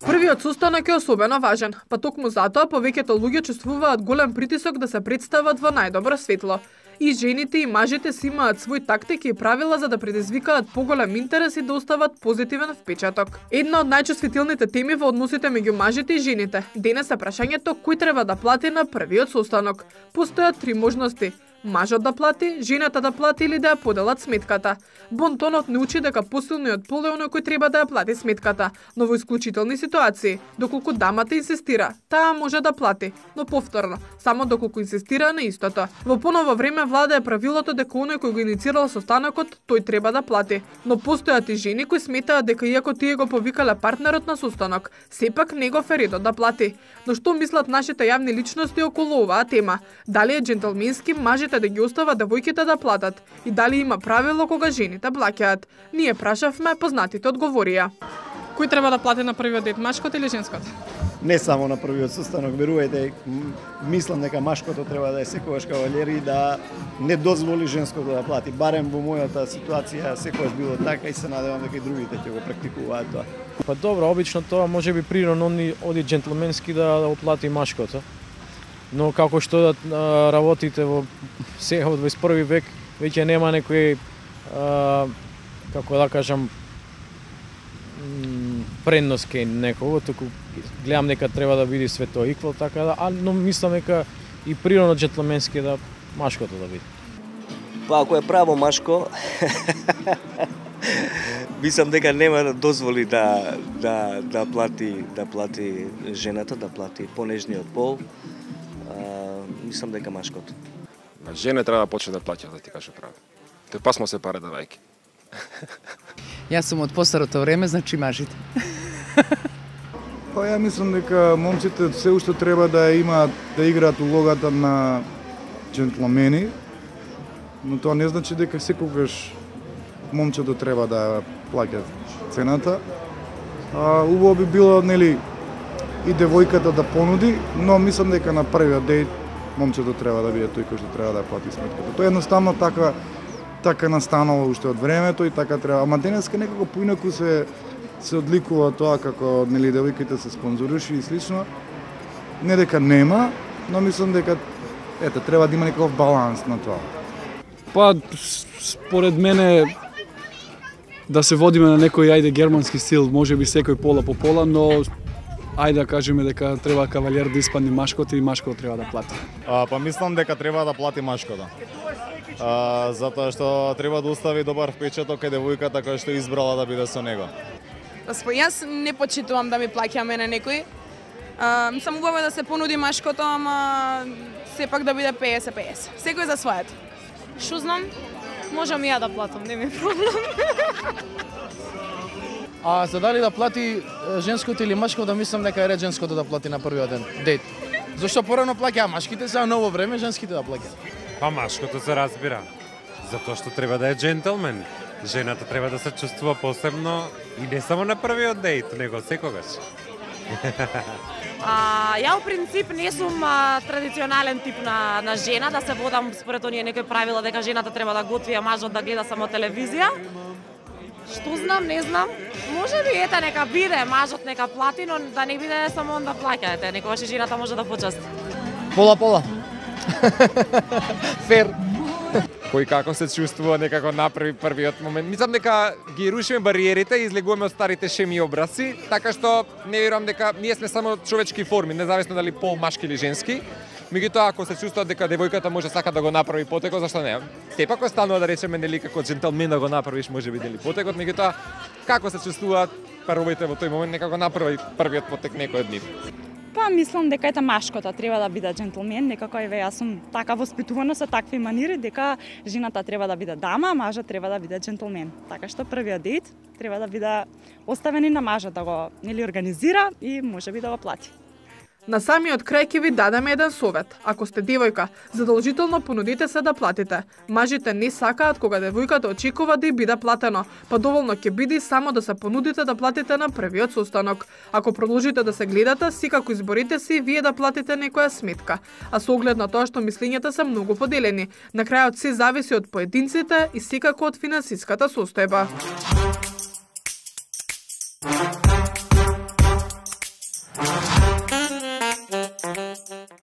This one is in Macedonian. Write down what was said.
Првиот состанок е особено важен, па токму затоа повеќето луѓе чувствуваат голем притисок да се представат во најдобро светло. И жените и мажите си имаат свој тактики и правила за да предизвикаат поголем интерес и да остават позитивен впечаток. Една од најчувствителните теми во односите меѓу мажите и жените денес е прашањето кој треба да плати на првиот состанок. Постојат три можности: мажот да плати, жената да плати или да ја поделат сметката. Бонтонот не учи дека посилниот пол е оној кој треба да ја плати сметката, но во исклучителни ситуации, доколку дамата инсистира, таа може да плати, но повторно, само доколку инсистира на истото. Во поново време влада е правилото дека оној кој го иницирал состанокот, тој треба да плати, но постојат и жени кои сметаат дека иако тие го повикале партнерот на состанок, сепак негов е редот да плати. Но што мислат нашите јавни личности околу оваа тема? Дали е џентлменски мажите да ги остава девојките да платат и дали има правило кога жените плаќаат? Ние прашавме, познатите одговорија. Кој треба да плати на првиот дет, машкото или женското? Не само на првиот состанок, верувајте, мислам дека машкото треба да е секогаш кавалер и да не дозволи женското да плати. Барем во мојата ситуација секогаш било така и се надевам дека и другите ќе го практикуваат тоа. Па добро, обично тоа може би природно оди џентлменски да оплати машкото. Но како што работите во сега во 21 век, веќе нема некој како да кажам предност кај некого, туку гледам дека треба да биде све тоа иквал, така да, но мислам дека и природно џентлменски да машкото да биде. Па ако е право машко, мислам дека нема да дозволи да плати жената, да плати понежниот пол. Мислам дека машкото. Жене треба да почне да плаќа, да ти кажа право. Тој пасмо се пари давајќи. Јас сум од постарото време, значи мажите. Па ја мислам дека момците се уште треба да играат улогата на џентлмени, но тоа не значи дека секогаш момчето треба да плаќа цената. Убаво би било, нели, и девојката да понуди, но мислам дека на првиот дејт момчето треба да биде тој кој што треба да плати сметката. Тоа едноставно така настанало уште од времето и така треба. Ама денеска некако поинаку се одликува тоа како, нели, девојките се спонзоруши и слично. Не дека нема, но мислам дека треба да има некаков баланс на тоа. Па според мене да се водиме на некој германски стил, можеби секој пола по пола, но ајде да кажеме дека треба кавалер да испадне машкото и машкото треба да плати. Па мислам дека треба да плати машкото. Затоа што треба да остави добар впечаток кај девојката која што избрала да биде со него. Јас не почитувам да ми плаќа мене некој. Мислам убаво да се понуди машкото, ама сепак да биде 50-50. Секој за своето. Што знам, можам и ја да платам, не ми е проблем. А за дали да плати женското или машкото, мислам дека е ред женското да плати на првиот ден, дейт. Зошто порано плаќаа машките, сега ново време женските да плаќаат. Па машкото се разбира, затоа што треба да е џентлмен. Жената треба да се чувствува посебно и не само на првиот дејт, него секогаш. Ја во принцип не сум традиционален тип на жена, да се водам според оние некои правила дека жената треба да готви, а мажот да гледа само телевизија. Што знам, не знам. Може би нека биде, мажот нека плати, но да не биде само он да плаќа, некогаш и жената може да почасти. Пола. Фер. Кој како се чувствува некако направи првиот момент. Мислам дека ги рушиме бариерите и излегуваме од старите шеми и образци, така што не верувам дека ние сме само човечки форми, независно дали пол машки или женски. Меѓутоа, ако се чувствува дека девојката може сака да го направи потекот, зашто не? Сепак останува да речеме нели како џентлмен да го направиш, можеби дали потекот, меѓутоа како се чувствуваат паровите во тој момент, нека го направи првиот потек некој од нив. Па мислам дека машкото треба да биде џентлмен, некако јас сум така воспитувана со такви манири дека жената треба да биде дама, мажот треба да биде џентлмен. Така што првиот дејт треба да биде оставен и на мажот да го организира и можеби да го плати. На самиот крај ќе ви дадеме еден совет. Ако сте девојка, задолжително понудите се да платите. Мажите не сакаат кога девојката очекува да ѝ биде платено, па доволно ќе биде само да се понудите да платите на првиот состанок. Ако продолжите да се гледате, секако изборите си вие да платите некоја сметка. А со оглед на тоа што мислењата се многу поделени, на крајот се зависи од поединците и секако од финансиската состојба.